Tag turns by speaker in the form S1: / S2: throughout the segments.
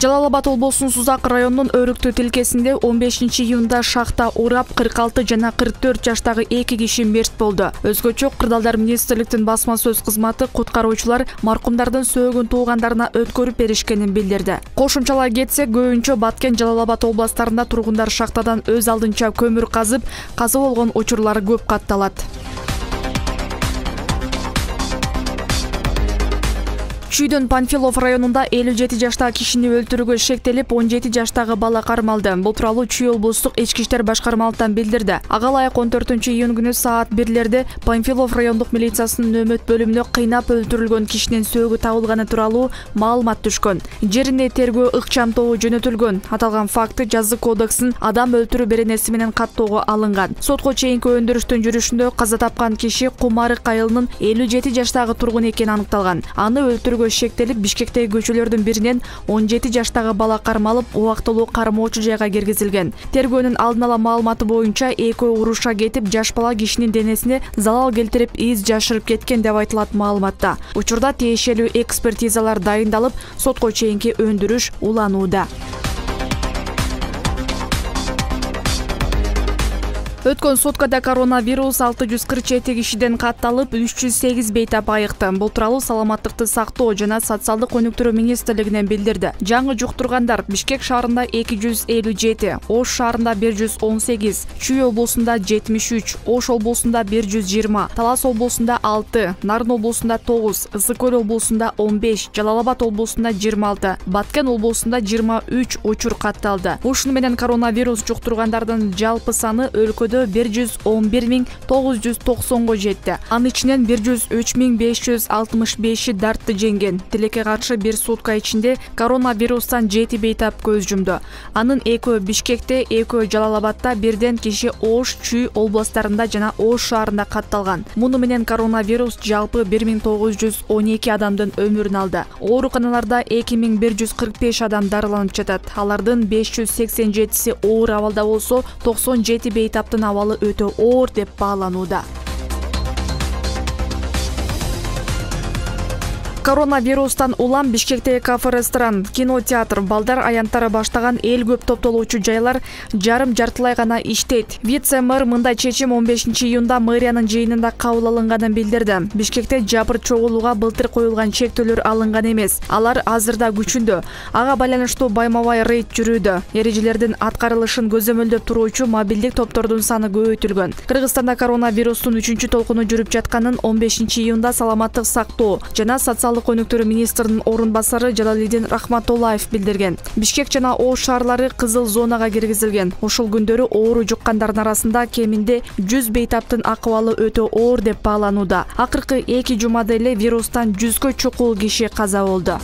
S1: Жалал Абад облусунун Сузак районунун Өрүктү тилкесинде 15 июнда шахта урап 46 жана 44 жаштагы 2 киши мерт болду. Өзгөчө Кырдаалдар министрликтин басма сөз кызматы куткаруучулар маркумдардын сөөгүн туугандарына өткөрүп беришкенин билдирди. Кошумчалай кетсек, көбүнчө Баткен, Жалал Абад областарында тургундар шахтадан өз алдынча көмүр казып, каза болгон учурлар көп катталат. Чүйдөн Панфилов районунда 57 жаштагы кишини өлтүрүүгө шектелип, 17 жаштагы бала кармалды. Бул тууралуу Чүй облустук ички иштер башкармалыктан билдирди. Ага ылайык 14 июнь күнү саат 1-лерде Панфилов райондук милициясынын нөөмөт бөлүмүнө кыйнап өлтүрүлгөн кишинин сөөгү табылганы тууралуу маалымат түшкөн. Жерине тергөө ыкчам тобу жөнөтүлгөн. Аталган факты жазы кодексин адам өлтүрүү беренеси менен каттоого алынган. Сотко чейинки өндүрүштүн жүрүшүндө каза тапкан киши Кумарык айылынын 57 жаштагы тургун экени аныкталган. Аны өлтүрүүгө шектелип, Бишкектеги көчөлөрдүн биринен 17 жаштагы бала кармалып, убактылуу кармоочу жайга киргизилген. Тергөөнүн алдын ала маалыматы боюнча, экөө уруша кетип, жаш бала кишинин денесине залал келтирип, из жашырып кеткен деп айтылат маалыматта. Учурда тиешелүү экспертизалар дайындалып, сотко чейинки өндүрүш уланууда. Өткөн суткада коронавирус 647 кишиден катталып, 308 бейтап айыкты. Бул тууралуу Саламаттыкты сактоо жана социалдык өнүктүрүү министрлигинен билдирди. Жаңы жуктургандар Бишкек шаарында 257, Ош шаарында 118, Чүй облусунда 73, Ош облусунда 120, Талас облусунда 6, Нарын облусунда 9, Ысык Көл облусунда 15, Жалал Абад облусунда 26, Баткен облусунда 23 учур катталды. Ушуну менен коронавирус жуктургандардын жалпы саны өлкөдө 111.990 жетти. Анын ичинен 103.565 дартты жеңген. Тилекке каршы бир сутка ичинде коронавирустан 7 бейтап көз жумду. Анын экөө Бишкекте, экөө Жалал Абадта, бирден киши Ош, Чүй областарында жана Ош шаарында катталган. Муну менен коронавирус жалпы 1912 адамдын өмүрүн алды. Ооруканаларда 2145 адам дарыланып жатат. Алардын 587си оор абалда болсо, 97 бейтаптын абалы өтө оор деп бааланууда. Коронавирустан улам Бишкектеги кафе-ресторан, кинотеатр, балдар аянттары баштаган эл көп топтолуучу жайлар жарым-жартылай гана иштейт. Вице-мэр мындай чечим 15 июнда мэриянын жыйынында кабыл алынганын билдирди. Бишкекте жапыр чогулууга былтыр коюлган чектөөлөр алынган эмес. Алар азырда күчүндө. Ага байланыштуу байма-бай рейд жүрүүдө. Эрежелердин аткарылышын көзөмөлдөп туруучу мобилдик топтордун саны көбөйтүлгөн. Кыргызстанда коронавирустун 3-чү толкуну жүрүп жатканын 15 июнда Саламаттык сактоо жана социалдык өнүктүрүү министринин орун басары Жалалидин Рахматуллаев билдирген. Бишкек жана Ош шаарлары кызыл зонага киргизилген. Ушул күндөрү оору жуккандардын арасында кеминде 100 бейтаптын акыбалы өтө оор деп бааланууда. Акыркы 2 жумада эле вирустан 100гө чукул киши каза болду.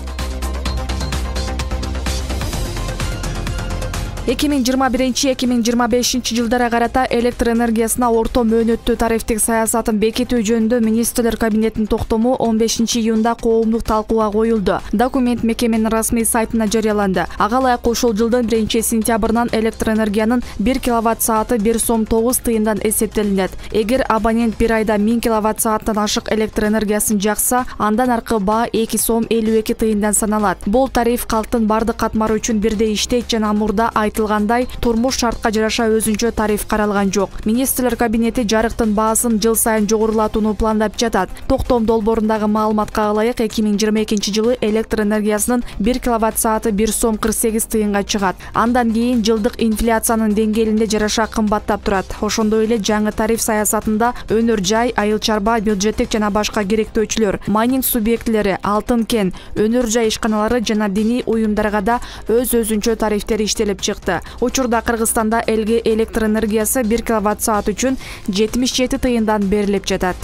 S1: 2021-2025 жылдара карата электр энергиясына орто мөөнөттүү тарифтик саясатын бекитүү жөнүндө министрлер кабинетинин токтому 15 июнда коомдук талкууга коюлду. Документ мекеменин расмий сайтына жарыяланды. Ага ылайык ушул жылдын 1-сентябрынан электр энергиянын 1 киловатт-сааты 1 сом 9 тыйындан эсептелинет. Эгер абонент бир айда 1000 киловатт-сааттан ашык электр энергиясын жакса, андан аркы баа 2 сом 52 тыйындан саналат. Бул тариф калктын бардык катмары үчүн бирдей иштейт жана мурда айтылгандай турмуш шартка жараша өзүнчө тариф каралган жок. Министрлер кабинети жарыктын баасын жыл сайын жогорулатууну пландап жатат. Токтом долбоорундагы маалыматка ылайык 2022 жылы электр энергиясынын 1 киловатт-сааты 1 сом 48 тыйынга чыгат. Андан кийин жылдык инфляциянын деңгээлине жараша кымбаттап турат. Ошондой эле жаңы тариф саясатында өнөр жай, айыл чарба, бюджеттик жана башка керектөөчүлөр, майнинг субъектилери, алтын кен, өнөр жай ишканалары жана диний уюмдарга да өз-өзүнчө тарифтер иштелип чыкты. Учурда Кыргызстанда элге электр энергиясы 1 киловатт-саат үчүн 77 тыйындан берилип жатат.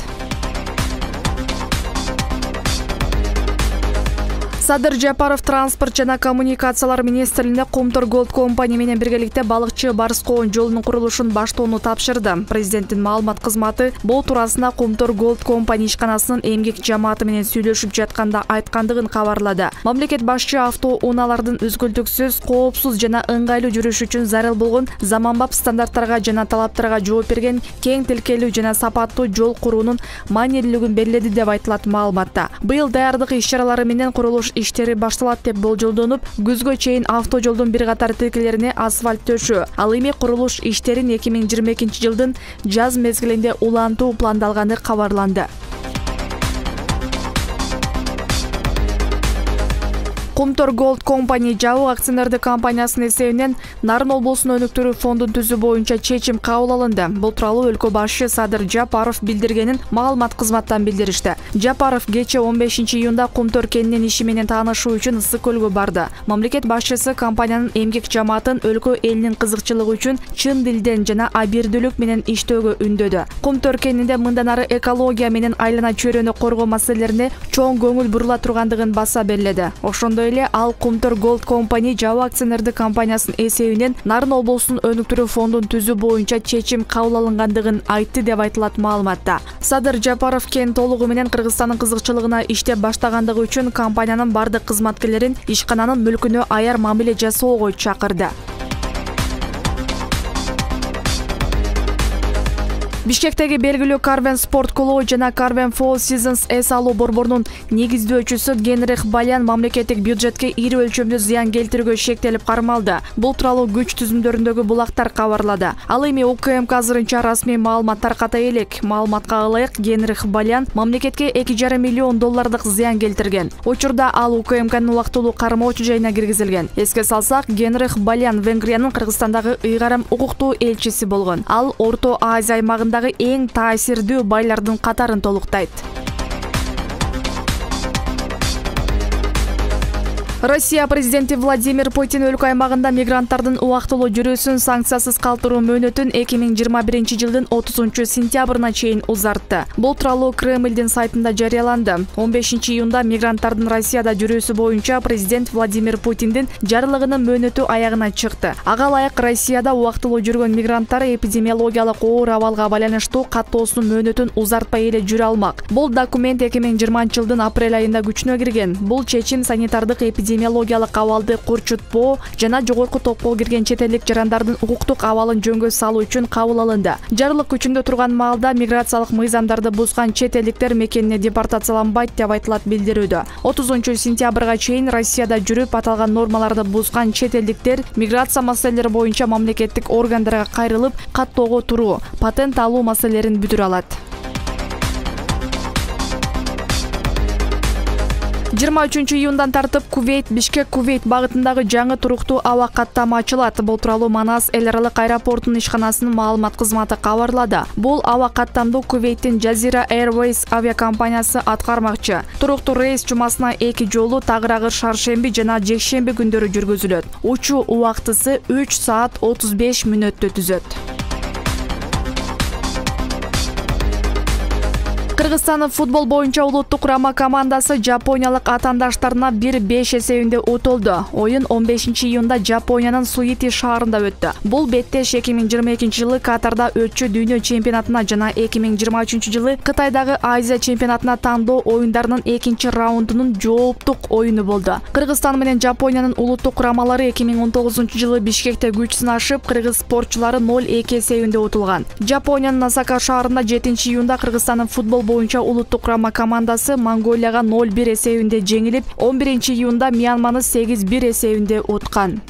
S1: Садыр Жапаров транспорт жана коммуникациялар министрлигине Кумтор Голд компания менен биргеликте балыкчы Барскоон жолунун курулушун баштоону тапшырды. Президенттин маалымат кызматы бул туурасында Кумтор Голд компания ишканасынын эмгек жамааты менен сүйлөшүп жатканда айткандыгын кабарлады. Мамлекет башчы автоунаалардын үзгүлтүксүз, коопсуз жана ыңгайлуу жүрүш үчүн зарыл болгон заманбап стандарттарга жана талаптарга жооп берген кең тилкелүү жана сапаттуу жол куруунун маанилүүлүгүн белгиледи деп айтылат маалыматта. Быйыл даярдык иш-чаралары менен курулуш иштери башталат деп болжолдонуп, күзгө чейин автожолдун бир катар тилкелерине асфальт төшөө, ал эми курулуш иштерин 2022 жылдын жаз мезгилинде улантуу пландалганы кабарланды. Кумтор Gold Company жабык акционердик компаниясынын эсебинен Нарын облусунун өнүктүрүү фондун түзүү боюнча чечим кабыл алынды. Бул тууралуу өлкө башчы Садыр Жапаров билдиргенин маалымат кызматтан билдиришти. Жапаров кечээ 15 июнда Кумтор кенинин иши менен таанышуу үчүн Ысык көлгө барды. Мамлекет башчысы компаниянын эмгек жамаатын өлкө элинин кызыкчылыгы үчүн чын дилден жана абийирдүүлүк менен иштөөгө үндөдү. Кумтор кенинде мындан ары экология менен айлана чөйрөнү коргоо маселелерине чоң көңүл бурула тургандыгын баса белгиледи. Ошондой эле ал Кумтор Gold Company жабык акционердик компаниясынын эсебинен Нарын облусунун өнүктүрүү фондун түзүү боюнча чечим кабыл алынгандыгын айтты деп айтылат маалыматта. Садыр Жапаров кен толугу менен Кыргызстандын кызыкчылыгына иштеп баштагандыгы үчүн компаниянын бардык кызматкерлерин ишкананын мүлкүнө аяр мамиле жасоого чакырды. Бишкектеги белгилүү Carven Sport клубу жана Carven Fall Seasons эс алуу борборунун негиздөөчүсү Генрих Балян мамлекеттик бюджетке ири өлчөмдүү зыян келтирүүгө шектелип кармалды. Бул тууралуу күч түзүмдөрүндөгү булактар кабарлады. Ал эми УКМК азырынча расмий маалымат таркатай элек. Маалыматка ылайык, Генрих Балян мамлекетке $2,5 миллион зыян келтирген. Учурда ал УКМКнын убактылуу кармоочу жайына киргизилген. Эске салсак, Генрих Балян Венгриянын Кыргызстандагы ыйгарым укуктуу элчиси болгон. Ал Орто Азия аймагында эң таасирдүү байлардын катарын толуктайт. Россия президенти Владимир Путин өлкө аймагында мигранттардын убактылуу жүрүүсүн санкциясыз калтыруу мөөнөтүн 2021 жылдын 30 сентябрына чейин узартты. Бул тууралуу Кремлдин сайтында жарыяланды. 15 июнда мигранттардын Россияда жүрүүсү боюнча президент Владимир Путиндин жарлыгынын мөөнөтү аягына чыкты. Ага ылайык Россияда убактылуу жүргөн мигранттар эпидемиологиялык оор абалга байланыштуу каттоосунун мөөнөтүн узартпай эле жүрө алмак. Бул документ 2020 жылдын апрель айында күчүнө кирген. Бул чечим санитардык эпидемиологиялык абалды курчутпоо жана жогорку топко кирген чет элдик жарандардын укуктук абалын жөнгө салуу үчүн кабыл алынды. Жарлык күчүндө турган маалда миграциялык мыйзамдарды бузган чет элдиктер мекенине депортацияланбайт деп айтылат билдирүүдө. 30 сентябрга чейин Россияда жүрүп аталган нормаларды бузган чет элдиктер миграция маселелери боюнча мамлекеттик органдарга кайрылып, каттоого туруу, патент алуу маселелерин бүтүрө алат. 23 июндан тартып Бишкек-Кувейт багытындагы жаңы туруктуу аба каттама ачылат. Бул тууралуу Манас эл аралык аэропортунун ишканасынын маалымат кызматы кабарлады. Бул аба каттамду Кувейттин Jazeera Airways авиакомпаниясы аткармакчы. Туруктуу рейс жумасына 2 жолу тагыраагы шаршемби жана жекшемби күндөрү жүргүзүлөт. Учуу убактысы 3 саат 35 мүнөттү түзөт. Кыргызстандын футбол боюнча улуттук курама командасы жапониялык атаандаштарына 1-5 эсебинде утулду. Оюн 15 июнда Жапониянын Суити шаарында өттү. Бул беттеш 2022 жылы Катарда өтчү дүйнө чемпионатына жана 2023 жылы Кытайдагы Азия чемпионатына тандоо оюндарынын экинчи раундунун жооптук оюну болду. Кыргызстан менен Жапониянын улуттук курамалары 2019 жылы Бишкекте күч сынашып, кыргыз спортчулары 0-2 эсебинде утулган. Жапониянын Осака шаарында 7 июнда Кыргызстандын футбол боюнча улуттук курама командасы Монголияга 0-1 эсебинде жеңилип, 11 июнда Мьянманы 8-1 эсебинде уткан.